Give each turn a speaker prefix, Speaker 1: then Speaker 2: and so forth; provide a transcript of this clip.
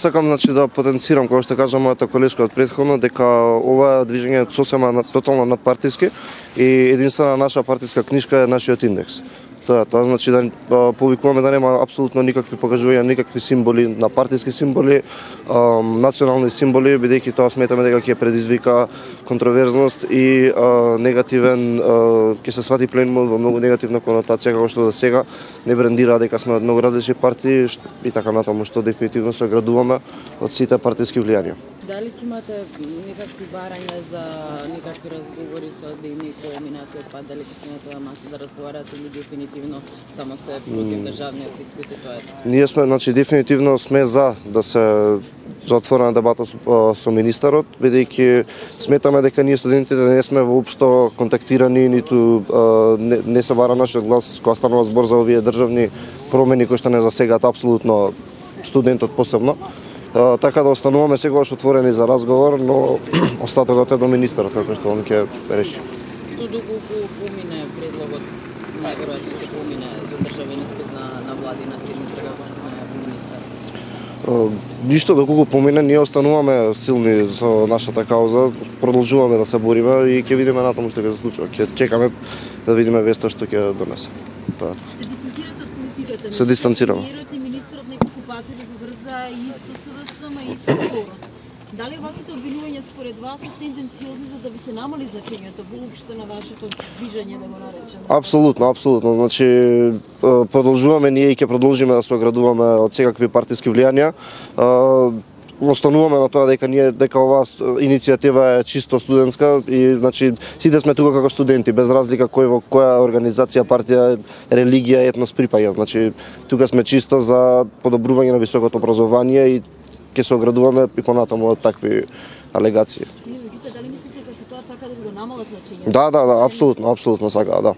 Speaker 1: Сакам да потенцирам кога што кажа мојата колешка од претходно дека ова движење е сосема тотално надпартиски и единствена наша партиска книшка е нашиот индекс. Тоа значи да повикуваме да нема апсолутно никакви покажувања, никакви символи на партиски символи, национални символи, бидејќи тоа сметаме дека ќе предизвика контроверзност и негативен, ќе се свати пленумот во многу негативна конотација како што до сега не брендира дека сме од многу различни партии и така натаму, што дефинитивно се оградуваме од сите партиски влијанија.
Speaker 2: Дали ќе имате некакви барања за некакви разговори со ДНИ по минатиот пат, дали ќе се на тоа маса да разговарате или дефинитивно само се против државниот испит и тоа е?
Speaker 1: Ние сме, дефинитивно сме за да се за отворена дебата со министерот, бидејќи сметаме дека ние студентите не сме воопшто контактирани, ниту не се бара нашиот глас кога станува збор за овие државни промени кои што не засегаат апсолутно студентот посебно. Така да остануваме секогаш отворени за разговор, но остатокот е до министерот како што он ќе реши.
Speaker 2: Што доколку помине предлогот, најверојатно ќе помине за државен испит на владина седница како што најави министер?
Speaker 1: Ништо доколку помине, ние остануваме силни со нашата кауза, продолжуваме да се бориме и ќе видиме натаму што ќе се случува. Ќе чекаме да видиме веста што ќе донесе. Тоа.
Speaker 3: Се дистанцирате од политиката?
Speaker 1: Се дистанцираме.
Speaker 3: Премиерот и министерот неколку пати да поврза и со СДСМ и со Сорос. Дали оваквите обвинувања според вас се тенденциозни за да ви се намали значењето воопшто на вашето движење, да го наречеме?
Speaker 1: Апсолутно. Значи продолжуваме ние и ќе продолжиме да се оградуваме од секакви партиски влијанија. Остануваме на тоа дека оваа иницијатива е чисто студентска и значи сите сме тука како студенти без разлика кој во која организација, партија, религија, етнос припаѓа. Значи тука сме чисто за подобрување на високото образование и ќе се оградуваме и понатаму од такви алегации.
Speaker 3: Дали мислите дека се тоа сака да го намалат значењето?
Speaker 1: Да, апсолутно сака, да.